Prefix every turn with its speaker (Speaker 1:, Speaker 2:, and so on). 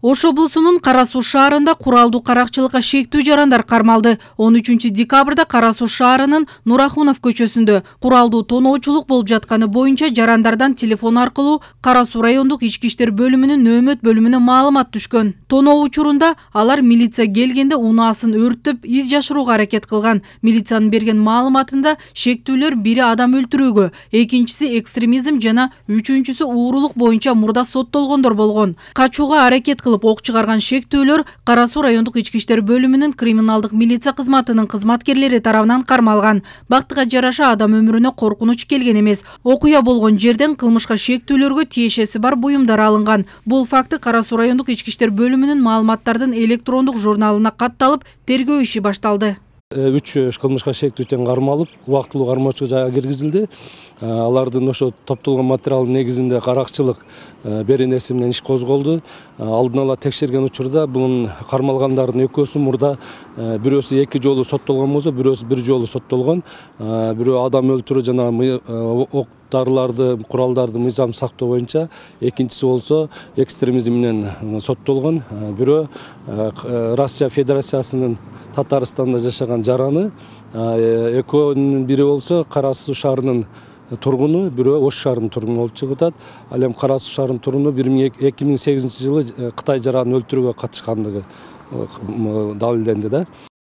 Speaker 1: Ош облусунун Кара Суу шаарында куралдуу каракчылыкка шектүү жарандар кармалды. 13 декабрда Кара Суу шаарынын Нурахунов көчөсүндө куралдуу тоноочулук болуп жатканы боюнча жарандардан телефон аркылуу Кара Суу райондук ички иштер бөлүмүнүн нөөмөт бөлүмүнө маалымат түшкөн. Тоноо учурунда алар милиция келгенде унаасын өрттөп из жашырууга аракет кылган. Милициянын берген маалыматында шектүүлөр бири адам өлтүрүүгө, экинчиси экстремизм жана үчүнчүсү уурулук боюнча мурда соттолгондор болгон. Качууга аракет ок чыгарган шектүүлөр Кара Суу райондук ички иштер бөлүмүнүн криминалдык милиция кызматынын кызматкерлери тарабынан кармалган. Бактыга жараша адам өмүрүнө коркунуч келген эмес. Окуя болгон жерден кылмышка шектүүлөргө тиешеси бар буюмдар алынган. Бул факты Кара Суу райондук ички иштер бөлүмүнүн маалыматтардын электрондук журналына катталып, тергөө иши башталды.
Speaker 2: 3 кылмышка шектүү тең кармалып, убактылуу кармоочуга жайга киргизилди. Алардын ошо топтолгон материалдын негизинде каракчылык беренеси менен иш козголду. Алдын ала текшерген учурда бунун кармалгандардын экөөсү мурда бирөөсү 2 жолу соттолгон болсо, бирөөсү 1 жолу соттолгон. Бирөө адам өлтүрүү жана ок дарыларды, куралдарды мыйзам сактоо боюнча, экинчиси болсо экстремизм менен соттолгон. Бирөө Россия Федерациясынын Татарстанда жашаган жараны, экөөнүн бири болсо Кара Суу шаарынын тургуну, бирөө Ош шаарынын тургуну болуп чыгып атат. Ал эми Кара Суу шаарынын тургуну 2008 жылы Кытай жаранын өлтүрүүгө катышкандыгы далилденди да.